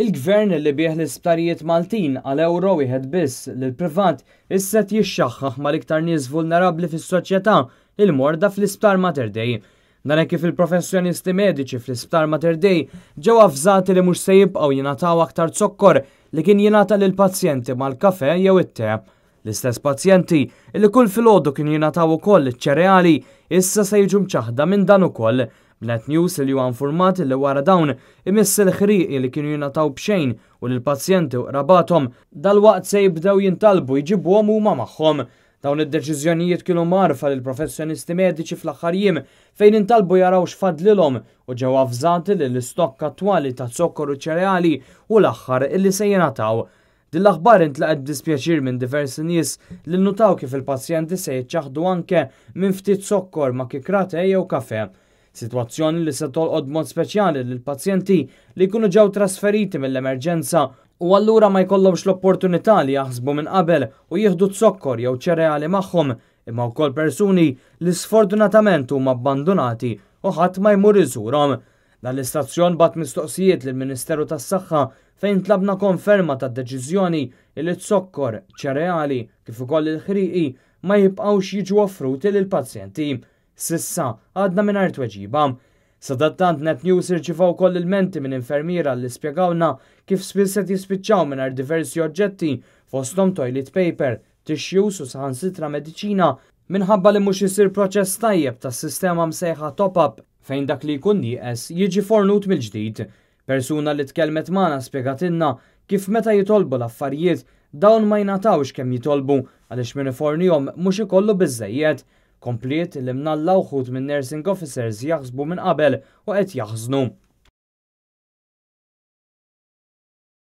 Il-Gvern li biegħ l-isptarijiet Maltin għal ewro wieħed biss lill-privat issa qed jixxaħħaħ mal-iktar nies vulnerabbli fis-soċjetà, il-morda fl-Isptar Mater Dei. Dan hekk kif il-professjonisti mediċi fl-Isptar Mater Dei ġew avżati li mhux se jibqgħu jingħataw aktar zokkor li kien jingħata lill-pazjenti mal-kafè jew it-te. L-istess pazjenti li kull filgħodu kienu jingħataw ukoll iċ-ċereali issa se jiġu mċaħħda minn dan ukoll. B'Net News li huwa infurmat li wara dawn imiss il-ħrieqi li kienu jingħataw b'xejn u li l-pazjenti u qrabathom dalwaqt se jibdew jintalbu jġibuhom huma magħhom. Dawn id-deċiżjonijiet kienu mgħarrfa lill-professjonisti mediċi fl-aħħar jiem fejn intalbu jaraw x'fadlilhom u ġew avżati li l-istokk attwali ta' zokkor u ċereali hu l-aħħar illi se jingħataw. Din l-aħbar intlaqgħet b'dispjaċir minn diversi nies li nnutaw kif il-pazjenti se jiċċaħħdu anke minn ftit zokkor ma' kikra te jew kafè. Sitwazzjoni li se tolqot b'mod speċjali lill-pazjenti li jkunu ġew trasferiti mill-emerġenza u allura ma jkollhomx l-opportunità li jaħsbu minn qabel u jieħdu zokkor jew ċereali magħhom, imma wkoll persuni li sfortunatament huma abbandunati u ħadd ma jmur iżurhom. Dan l-istazzjon bagħat mistoqsijiet lill-Ministeru tas-Saħħa fejn tlabna konferma tad-deċiżjoni li zokkor, ċereali kif ukoll il-ħrieqi ma jibqgħux jiġu offruti lill-pazjenti. S'issa għadna mingħajr tweġiba. Sadattant Net News irċiva wkoll ilmenti minn infermiera li spjegawna kif spiss qed jispiċċaw mingħajr diversi oġġetti fosthom toilet paper, tissues u saħansitra mediċina minħabba li mhux isir proċess tajjeb tas-sistema msejħa top-up fejn dak li jkun nieqes jiġi fornut mill-ġdid. Persuna li tkellmet magħna spjegatilna kif meta jitolbu l-affarijiet dawn ma jingħatawx kemm jitolbu għaliex min ifornihom mhux ikollu biżejjed. Kompliet li mnalla wħud minn nursing officers jaħsbu minn qabel u qed jaħżnu.